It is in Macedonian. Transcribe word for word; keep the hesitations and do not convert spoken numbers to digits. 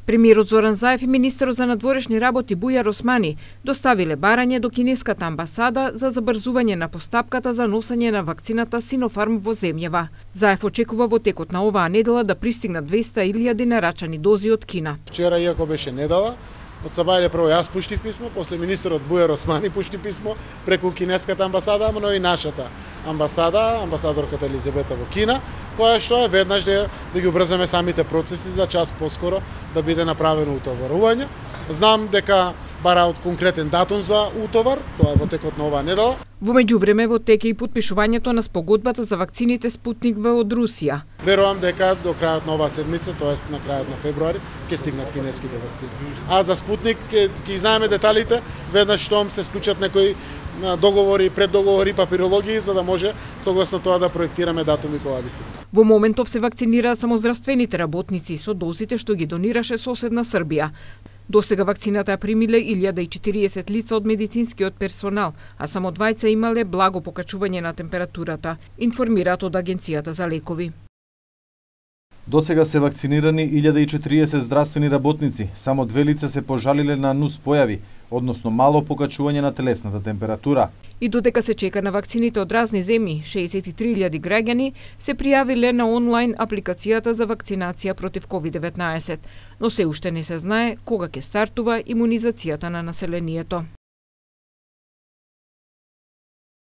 Премиерот Зоран Заев и министерот за надворешни работи Бујар Османи доставиле барање до кинеската амбасада за забрзување на постапката за носење на вакцината Синофарм во земјава. Заев очекува во текот на оваа недела да пристигнат двеста илјади нарачани дози од Кина. Вчера, иако беше недела, од Сабајле прво јас пуштив писмо, после министерот Бујар Османи пушти писмо преку кинеската амбасада, но и нашата амбасада, амбасадорката Елизабета во Кина, која што е веднаш да, да ги убрзаме самите процеси за час поскоро да биде направено утоварување. Знам дека бараат конкретен датум за утовар, тоа е во текот на оваа недела. Во меѓувреме во тек е и потпишувањето на спогодбата за вакцините Спутник В од Русија. Верувам дека до крајот на оваа седмица, тоест на крајот на февруари, ќе стигнат кинеските вакцини. А за Спутник ќе знаеме деталите веднаш штом се склучат некои договори, преддоговори, папирологии, за да може согласно тоа да проектираме датуми кога ги стигнат. Во моментов се вакцинираа само здравствените работници со дозите што ги донираше соседна Србија. До сега вакцината ја примиле илјада и четириесет лица од медицинскиот персонал, а само двајца имале благо покачување на температурата, информираат од Агенцијата за лекови. До сега се вакцинирани илјада и четириесет здравствени работници, само две лица се пожалиле на нус појави, односно мало покачување на телесната температура. И додека се чека на вакцините од разни земји, шеесет и три илјади граѓани се пријавиле на онлайн апликацијата за вакцинација против ковид деветнаесет, но се уште не се знае кога ќе стартува имунизацијата на населението.